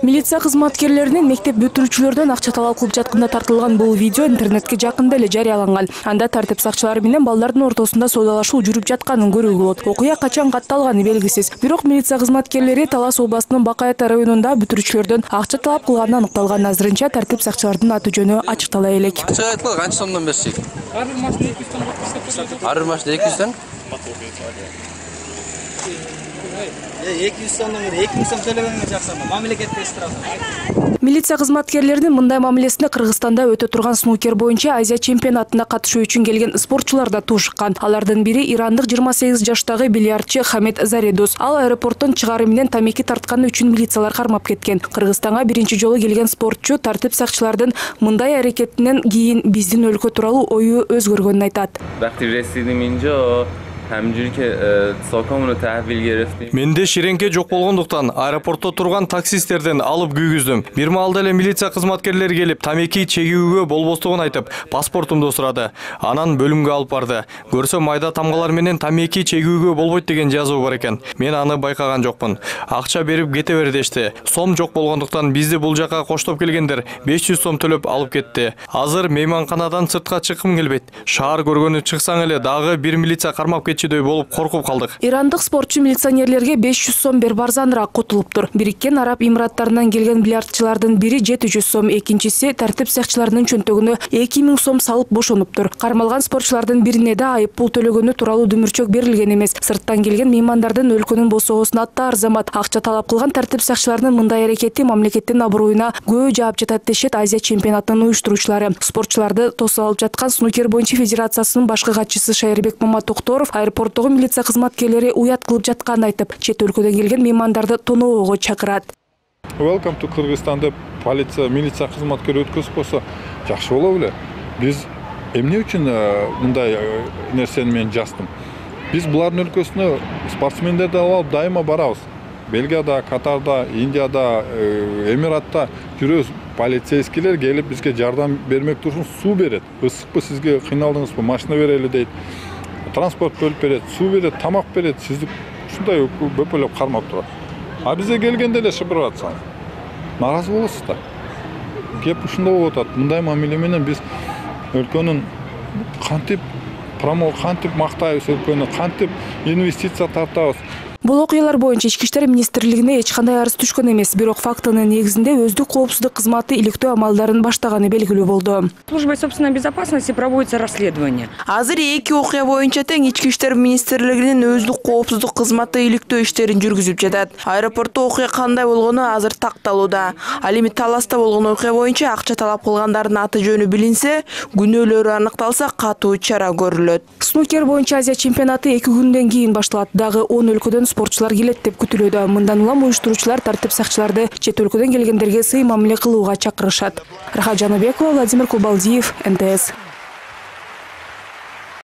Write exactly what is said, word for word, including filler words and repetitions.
Милиция кызматкерлеринин мектеп бүтүрүүчүлөрдөн акча талап кылып жатканда тартылган бул видео интернетке жакында эле жарыяланган. Анда тартип сакчылары менен балдардын ортосунда соодалашуу жүрүп жатканын көрүүгө болот. Окуя качан катталганы белгисиз. Бирок милиция кызматкерлери Талас областынын Бакайата районунда бүтүрүүчүлөрдөн акча талап кылганы аныкталган. Азырынча тартип сакчылардын аты жөнү ачыктала элек. Акча айтылган канча сомдон берсек? Ар бир машина эки жүз сом берип Ар бир машина эки жүз сом? эки жүз сомдон эки миң сом төлөгөнгө жаксама, мамлекетте эстират. Милиция кызматкерлеринин мындай мамилесине Кыргызстанда өтө турган снукер боюнча Азия чемпионатына катышуу үчүн келген спортчулар да тушкан. Алардын бири ирандык жыйырма сегиз жаштагы бильярдчы Хамед Заредус. Ал аэропорттон чыгары менен тамеки тартканы үчүн милициялар кармап кеткен. Кыргызстанга биринчи жолу келген спортчу тартип сакчылардын мындай аракетинен кийин биздин өлкө тууралуу ою өзгөргөнүн айтат. Менде ширеңке жок болгондуктан аэропортто турган таксисттерден алып күйгүздүм. Бир маалда эле милиция кызматкерлери келип, тамеки чегүүгө болбостугун айтып, паспортумду сурады. Анан бөлүмгө алып барды. Көрсө майда тамгалар менен тамеки чегүүгө болбойт деген жазуу бар экен. Мен аны байкаган жокмун. Акча берип кете бер дешти. Сом жок болгондуктан бизди бул жака коштоп келгендер беш жүз сом төлөп алып кетти. Азыр мейманканадан сыртка чыккым келбейт. Шаар көргөнү чыксаң эле дагы бир милиция кармап кетчүдөй болуп коркуп калдык. Ирандык спортчу милиционерлерге беш жүз сом берип арзаныраак кутулуптур. Бириккен Араб Эмираттарынан келген бильярдчылардын бири жети жүз сом, экинчиси тартип сакчыларынын чөнтөгүнө эки миң сом салып бошонуптур. Кармалган спортчулардын бирине да айып пул төлөгөнү тууралуу дүмүрчөк берилген эмес. Сырттан келген меймандардын өлкөнүн босоосуна ата арзамат. Акча талап кылган тартип сакчыларынын мындай аракети мамлекеттин аброюна күбө жаап жатат дешет Азия чемпионатынын уюштуруучулары. Спортчуларды тосуп алып жаткан снукер боюнча федерациясынын башкы катчысы Шайырбек Маматокторов аэропорттогу милиция кызматкерлери уят кылып жатканын айтып, чет өлкөдөн келген меймандарды тоноого чакырат. Welcome to Kyrgyzstan деп полиция, милиция кызматкери өткөзүп койсо жакшы боло беле. Биз эмне үчүн мындай нерсени мен жаздым? Биз булардын өлкөсүнө спортсмендерди алып дайыма барабыз. Бельгияда, Катарда, Индияда, Эмиратта жүрөбүз. Полицейскийлер келип бизге жардам бермек турушун суу берет. Ысыкпы сизге кыйналдыңызбы, машина берели дейт. Транспорт бөлүп берет, суу берет, тамак берет, сизди ушундай бөпөлөп кармап турат. А бизге келгенде эле шыпырып атсаң, нааразы болосуз да. Кеп ушундай болуп атат. Мындай мамиле менен биз өлкөнүн кантип промо, кантип мактайбыз өлкөнү, кантип инвестиция тартабыз. Бул окуялар боюнча Ички иштер министрлигине эч кандай арыз түшкөн эмес, бирок фактынын негизинде өздүк коопсуздук кызматы иликтөө амалдарын баштаганы белгилүү болду. Службой собственной безопасности проводится расследование. Азыр эки окуя боюнча тең Ички иштер министрлигинин өздүк коопсуздук кызматы иликтөө иштерин жүргүзүп жатат. Аэропортто окуя кандай болгону азыр такталууда. Ал эми Таласта болгон окуя боюнча акча талап кылгандардын аты жөнү билинсе, күнөөлөрү аныкталса, катуу чара көрүлөт. Снукер боюнча Азия чемпионаты эки күндөн кийин башталат. Дагы он өлкөдөн спортчулар келет деп күтүлүүдө. Мындан улам уюштуруучулар тартип сакчыларды чет өлкөдөн келгендерге сый мамиле кылууга чакырышат. Рахат Жаныбекова, Владимир Кубалдиев, эн тэ эс.